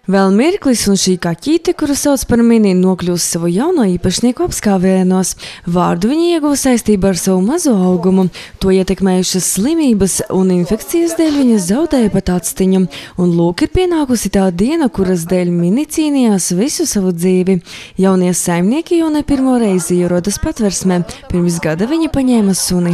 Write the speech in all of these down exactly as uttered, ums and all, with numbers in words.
Vēl mirklis, un šī kaķīte, kuru sauc par Mini, nokļūs savu jauno īpašnieku apskāvienos. Vārdu viņa ieguva saistībā ar savu mazo augumu. To ietekmējušas slimības un infekcijas dēļ viņa zaudēja pat actiņu. Un lūk ir pienākusi tā diena, kuras dēļ Mini cīnījās visu savu dzīvi. Jaunie saimnieki jau ne pirmo reizi ierodas patversmē. Pirms gada viņi paņēma suni.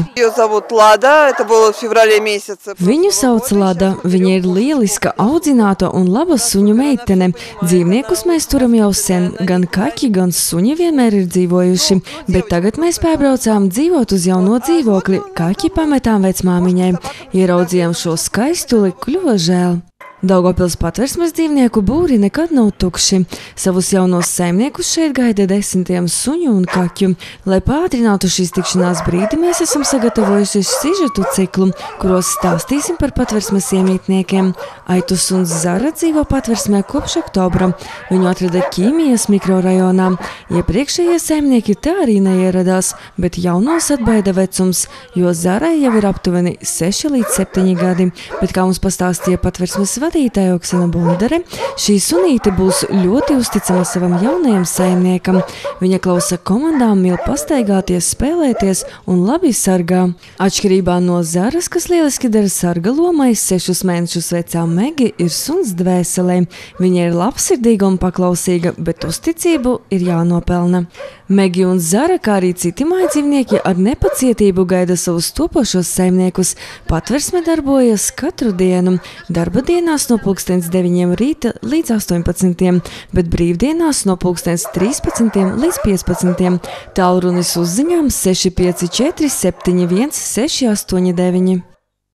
Viņu sauc Lada. Viņa ir lieliska, audzināta un laba suņu meita. Dzīvniekus mēs turam jau sen, gan kaķi, gan suņi vienmēr ir dzīvojuši, bet tagad mēs pārbraucām dzīvot uz jauno dzīvokli, kaķi pametām vecmāmiņai. Ieraudzījām šo skaistuli, kļuva žēl. Daugavpils patversmes dzīvnieku būri nekad nav tukši. Savus jaunos saimniekus šeit gaida desmitiem suņu un kaķu. Lai pātrinātu šīs tikšanās brīdi, mēs esam sagatavojuši sižetu ciklu, kuros stāstīsim par patversmes iemītniekiem. Aitus un Zara dzīvo patversmē kopš oktobra. Viņu atrada Ķīmijas mikrorajonā. Iepriekšējie saimnieki tā arī neieradās, bet jaunos atbaida vecums, jo Zarai jau ir aptuveni seši līdz septiņi gadi. Bet kā mums pastāstīja patversmes vadītāja Oksana Bundere, šī sunīte būs ļoti uzticama savam jaunajam saimniekam. Viņa klausa komandām, mīl pastaigāties, spēlēties un labi sargā. Atšķirībā no Zaras, kas lieliski dara sarga lomai, sešus mēnešus vecā Megi ir suns dvēselē. Viņa ir labsirdīga un paklausīga, bet uzticību ir jānopelna. Megi un Zara, kā arī citi mājdzīvnieki, ar nepacietību gaida savus topošos saimniekus. Patversme darbojas katru dienu. Darba dienās no pulkstens deviņiem rīta līdz astoņpadsmitiem, bet brīvdienās no pulkstens trīspadsmitiem līdz piecpadsmitiem. Tālrunis uzziņām seši pieci četri septiņi viens seši astoņi deviņi.